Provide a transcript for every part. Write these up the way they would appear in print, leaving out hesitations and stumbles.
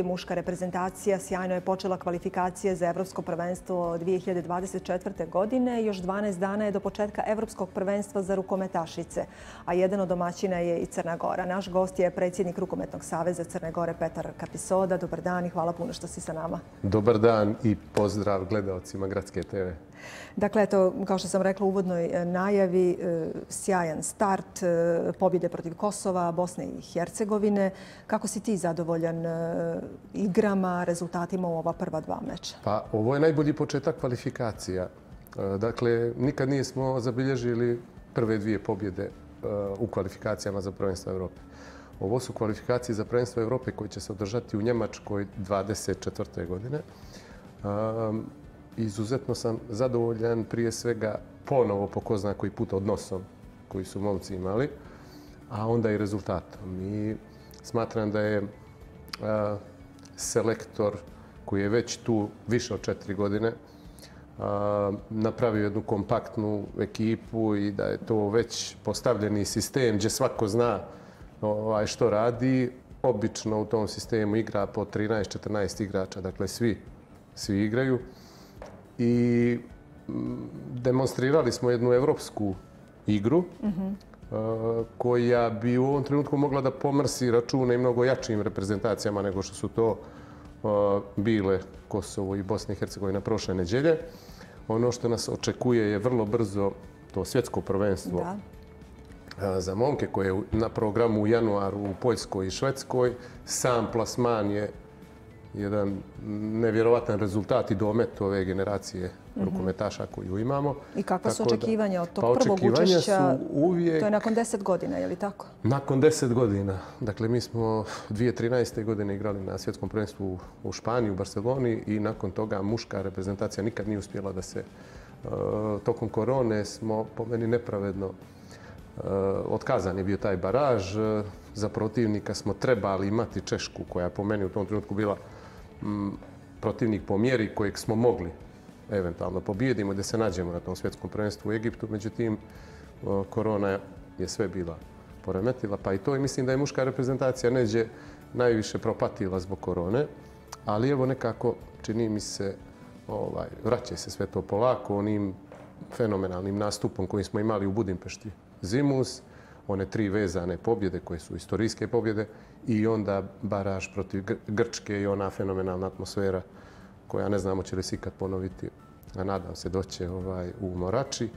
Muška reprezentacija sjajno je počela kvalifikacije za Evropsko prvenstvo 2024. godine. Još 12 dana je do početka Evropskog prvenstva za rukometašice, a jedan od domaćina je i Crna Gora. Naš gost je predsjednik Rukometnog saveza Crne Gore Petar Kapisoda. Dobar dan i hvala puno što si sa nama. Dobar dan i pozdrav gledaocima Gradske TV. Dakle, eto, kao što sam rekla u uvodnoj najavi, sjajan start, pobjede protiv Kosova, Bosne i Hercegovine. Kako si ti zadovoljan igrama, rezultatima u ova prva dva meča? Pa, ovo je najbolji početak kvalifikacija. Dakle, nikad nismo zabilježili prve dvije pobjede u kvalifikacijama za prvenstvo Evrope. Ovo su kvalifikacije za prvenstvo Evrope koje će se održati u Njemačkoj 2024. godine. Izuzetno sam zadovoljan prije svega ponovo po ko zna koji put odnosom koji su momci imali, a onda i rezultatom. I smatram da je selektor koji je već tu više od 4 godine napravio jednu kompaktnu ekipu i da je to već postavljeni sistem gdje svako zna što radi. Obično u tom sistemu igra po 13-14 igrača, dakle svi igraju. I demonstrirali smo jednu evropsku igru koja bi u ovom trenutku mogla da pomrsi račune i mnogo jačim reprezentacijama nego što su to bile Kosovo i Bosna i Hercegovina prošle nedjelje. Ono što nas očekuje je vrlo brzo to svjetsko prvenstvo za momke koje je na programu u januaru u Poljskoj i Švedskoj. Sam plasman je jedan nevjerovatan rezultat i domet ove generacije rukometaša koju imamo. I kakva su očekivanja od tog prvog učešća? To je nakon 10 godina, je li tako? Nakon 10 godina. Dakle, mi smo 2013. godine igrali na svjetskom prvenstvu u Španiji, u Barceloni i nakon toga muška reprezentacija nikad nije uspjela da se tokom korone smo po meni nepravedno otkazan je bio taj baraž. Za protivnika smo trebali imati Češku koja je po meni u tom trenutku bila protivnik po mjeri kojeg smo mogli eventualno pobijedimo da se nađemo na tom svjetskom prvenstvu u Egiptu. Međutim, korona je sve bila poremetila, pa i to. I mislim da je muška reprezentacija neđe najviše propatila zbog korone. Ali evo nekako, čini mi se, vraća se sve to polako onim fenomenalnim nastupom koji smo imali u Budimpešti zimus. One 3 vezane pobjede koje su istorijske pobjede i onda baraž protiv Grčke i ona fenomenalna atmosfera koja ne znamo će li se ikad ponoviti, a nadam se doće u Morači.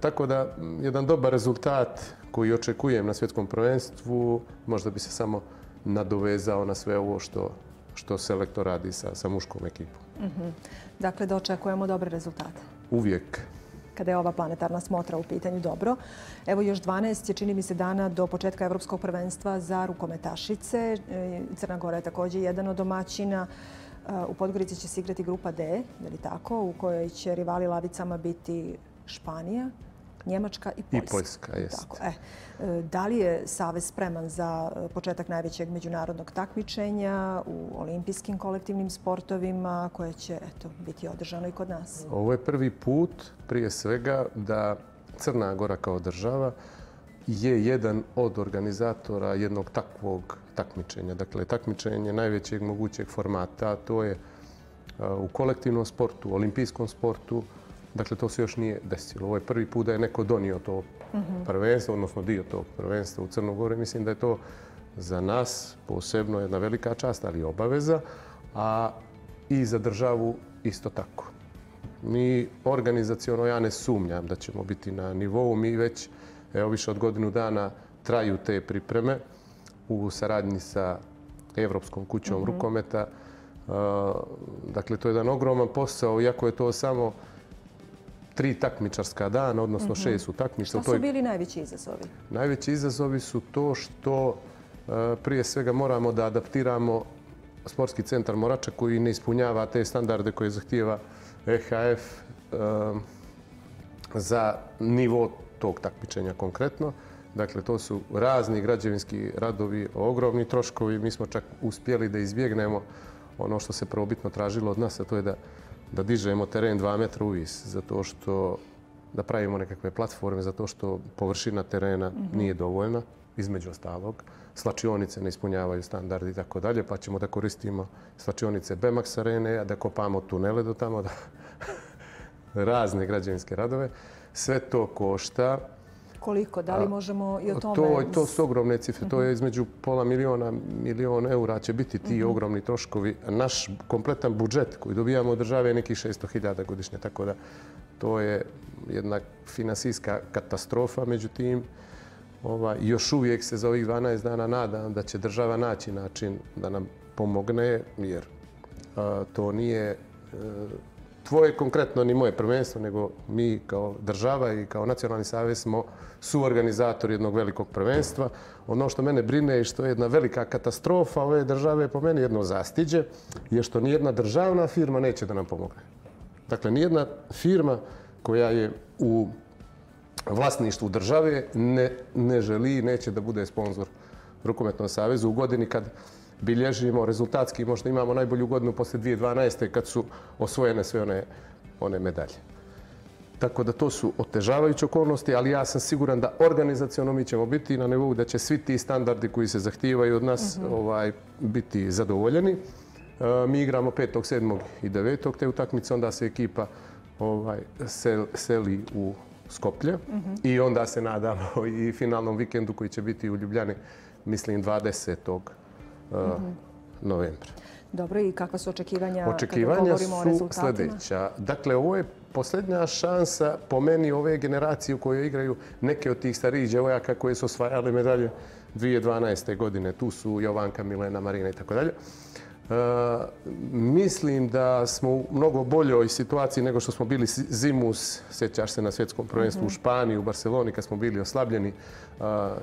Tako da, jedan dobar rezultat koji očekujem na svjetskom prvenstvu, možda bi se samo nadovezao na sve ovo što selektor radi sa muškom ekipom. Dakle, da očekujemo dobre rezultate. Uvijek. Kada je ova planetarna smotra u pitanju, dobro. Evo još 12 je, čini mi se, dana do početka Evropskog prvenstva za rukometašice. Crna Gora je također jedan od domaćina. U Podgorici će se igrati grupa D, je li tako, u kojoj će rivali lavicama biti Španija, Njemačka i Poljska. I Poljska, jeste. Da li je Savez spreman za početak najvećeg međunarodnog takmičenja u olimpijskim kolektivnim sportovima koje će biti održano i kod nas? Ovo je prvi put, prije svega, da Crna Gora kao država je jedan od organizatora jednog takvog takmičenja. Dakle, takmičenje najvećeg mogućeg formata, to je u kolektivnom sportu, u olimpijskom sportu. Dakle, to se još nije desilo. Ovo je prvi put da je neko donio to prvenstvo, odnosno dio tog prvenstva u Crnu Goru. Mislim da je to za nas posebno jedna velika čast, ali i obaveza, a i za državu isto tako. Mi organizaciono, ja ne sumnjam da ćemo biti na nivou. Mi već, više od godinu dana traju te pripreme u saradnji sa Evropskom kućom rukometa. Dakle, to je jedan ogroman posao, iako je to samo 3 takmičarska dana, odnosno 6 utakmica. Šta su bili najveći izazovi? Najveći izazovi su to što prije svega moramo da adaptiramo sportski centar Morača koji ne ispunjava te standarde koje zahtijeva EHF za nivo tog takmičenja konkretno. Dakle, to su razni građevinski radovi, ogromni troškovi. Mi smo čak uspjeli da izbjegnemo ono što se prvobitno tražilo od nas, a to je da dižemo teren 2 metra uvis, zato što da pravimo nekakve platforme, zato što površina terena nije dovoljna. između ostalog. Slačionice ne ispunjavaju standardi i tako dalje, pa ćemo da koristimo slačionice Bemax arene, a da kopamo tunele do tamo, da razne građevinske radove. Sve to košta. Koliko? Da li možemo i o tome? To su ogromne cifre. To je između pola miliona, milion eura će biti ti ogromni troškovi. Naš kompletan budžet koji dobijamo od države je nekih 600.000 godišnje. Tako da to je jedna finansijska katastrofa. Međutim, još uvijek se za ovih 12 dana nadam da će država naći način da nam pomogne, jer to nije tvoje konkretno ni moje prvenstvo, nego mi kao država i kao nacionalni savez smo suorganizatori jednog velikog prvenstva. Ono što mene brine i što je jedna velika katastrofa ove države, po meni jedno zastiđe, je što nijedna državna firma neće da nam pomogne. Dakle, nijedna firma koja je u vlasništvu države ne želi i neće da bude sponzor Rukometnom savezu u godini kad bilježimo rezultatski, možda imamo najbolju godinu posle 2012. kad su osvojene sve one medalje. Tako da to su otežavajuće okolnosti, ali ja sam siguran da organizaciono mi ćemo biti na nivou da će svi ti standardi koji se zahtijevaju od nas biti zadovoljeni. Mi igramo 5., 7. i 9. te utakmice, onda se ekipa seli u Skoplje i onda se nadamo i finalnom vikendu koji će biti u Ljubljani, mislim 20. novembra. Dobro, i kakva su očekivanja kada Očekivanja govorimo o su rezultatima? sljedeća. Dakle, ovo je posljednja šansa po meni ove generacije u kojoj igraju neke od tih starijih djevojaka koje su osvajale medalje 2012. godine. Tu su Jovanka, Milena, Marina i tako dalje. Mislim da smo u mnogo boljoj situaciji nego što smo bili zimus, sjećaš se na svjetskom prvenstvu u Španiji, u Barceloni kad smo bili oslabljeni.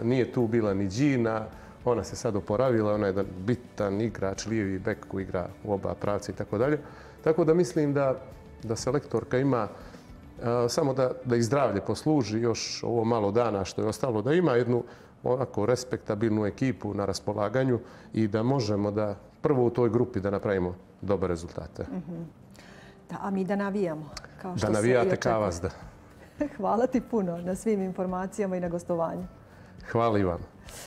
Nije tu bila ni Gina, ona se sad oporavila, ona je jedan bitan igrač, lijevi bek koji igra u oba pravca i tako dalje. Tako da mislim da selektorka ima samo da ih zdravlje posluži još ovo malo dana što je ostalo, da ima jednu onako respektabilnu ekipu na raspolaganju i da možemo da prvo u toj grupi da napravimo dobre rezultate. Da, a mi da navijamo. Da navijate kao vas, da. Hvala ti puno na svim informacijama i na gostovanju. Hvala i vam.